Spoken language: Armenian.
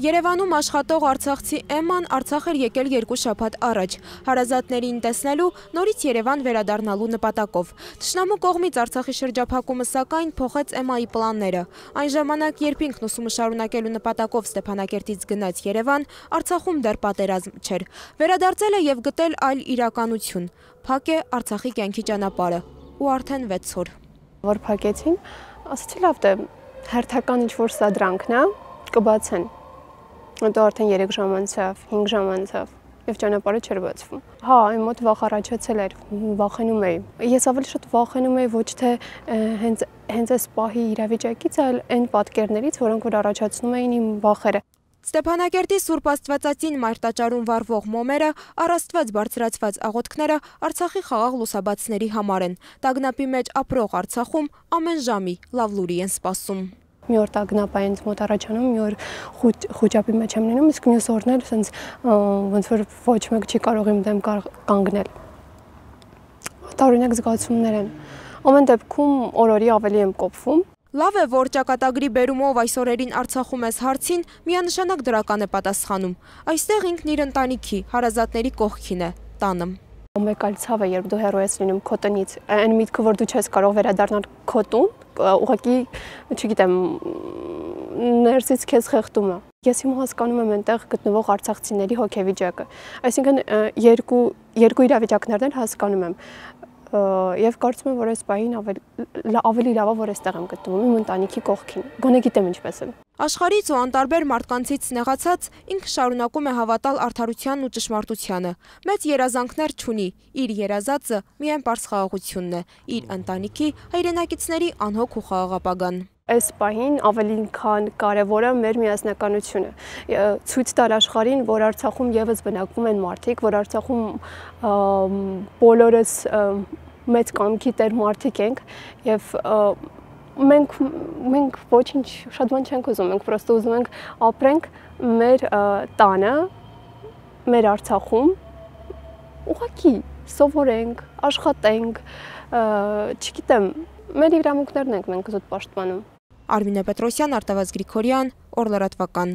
Երևանում աշխատող արցախցի Էմման Արցախ էր եկել 2 շաբաթ առաջ, հարազատներին տեսնելու, նորից Երևան վերադառնալու նպատակով։ Թշնամու կողմից Արցախի շրջափակումը սակայն փոխեց Էմմայի պլանները։ Այն ժամանակ, երբ ինքն ուսումը շարունակելու նպատակով Ստեփանակերտից գնաց Երևան, Արցախում դեռ պատերազմ չէր։ Վերադարձել է եւ գտել այլ իրականություն։ Փակ է Արցախի կյանքի ճանապարհը ու արդեն 6 օր։ Որ փակեցին, ասացի լավ դե հերթական ինչ-որ սադրանքն է, կբացեն։ Հետո արդեն 3 ժամ անցավ, 5 ժամ անցավ եւ ճանապարհը չէր բացվում։ Հա, այն մոտ վախ առաջացել էր, վախենում էի։ Ես ավելի շատ վախենում էի ոչ թե հենց այս պահի իրավիճակից, այլ այն պատկերներից, որոնք որ առաջացնում էին իմ վախերը։ Ստեփանակերտի Սուրբ Աստվածածին մայրտաճարում վառվող մոմերը, առաստված բարձրացված աղոթքները Արցախի խաղաղ լուսաբացների համար են։ Տագնապի մեջ ապրող Արցախում ամեն ժամի լավ լուրի են սպասում։ Մի օր տագնապ է ինձ մոտ առաջանում, մի օր խոճապի մեջ եմ լինում, իսկ մյուս օրն էլ sense ոնց որ ոչ մեկ չի կարող իմ դեմ կանգնել։ Տարօրինակ զգացումներ են։ Ամեն դեպքում օրորի ավելի եմ կոփվում։ Լավ է, որ ճակատագրի բերումով այս օրերին Արցախում ես հարցին միանշանակ դրական է պատասխանում։ Այստեղ ինքն իր ընտանիքի, հարազատների կողքին է, տանը։ Մեկ այլ ցավ է, երբ դու հեռու ես լինում քո տնից, այն միտքը, որ դու չես կարող վերադառնալ քո տուն, ուղղակի, չգիտեմ, ներսից քեզ խեղդում է։ Ես հիմա հասկանում եմ այնտեղ գտնվող արցախցիների հոգեվիճակը։ Այսինքն երկու իրավիճակներն էլ հասկանում եմ։ Եվ կարծում եմ, որ այս պահին ավելի լավ է, որ այստեղ եմ գտնվում, իմ ընտանիքի կողքին։ Գոնե գիտեմ ինչպես է։ Աշխարհից ու անտարբեր մարդկանցից նեղացած ինքը շարունակում է հավատալ արդարությանն ու ճշմարտությանը։ Մեծ երազանքներ չունի, իր երազածը միայն պարզ խաղաղությունն է, իր ընտանիքի, հայրենակիցների անհոգ ու խաղաղ ապագան։ Այս պահին ավելին քան կարևոր է մեր միասնականությունը։ Ցույց տալ աշխարհին, որ Արցախում եւս բնակվում են մարդիկ, որ Արցախում բոլորս մեծ կամքի տեր մարդիկ ենք եւ մենք ոչինչ շատ բան չենք ուզում, մենք պրոստը ուզում ենք ապրենք մեր տանը, մեր Արցախում, ուղղակի սովորենք, աշխատենք, չգիտեմ, մեր իրավունքներն ենք մենք զուտ պաշտպանում։ Արմինե Պետրոսյան, Արտավազդ Գրիգորյան, Օր լրատվական։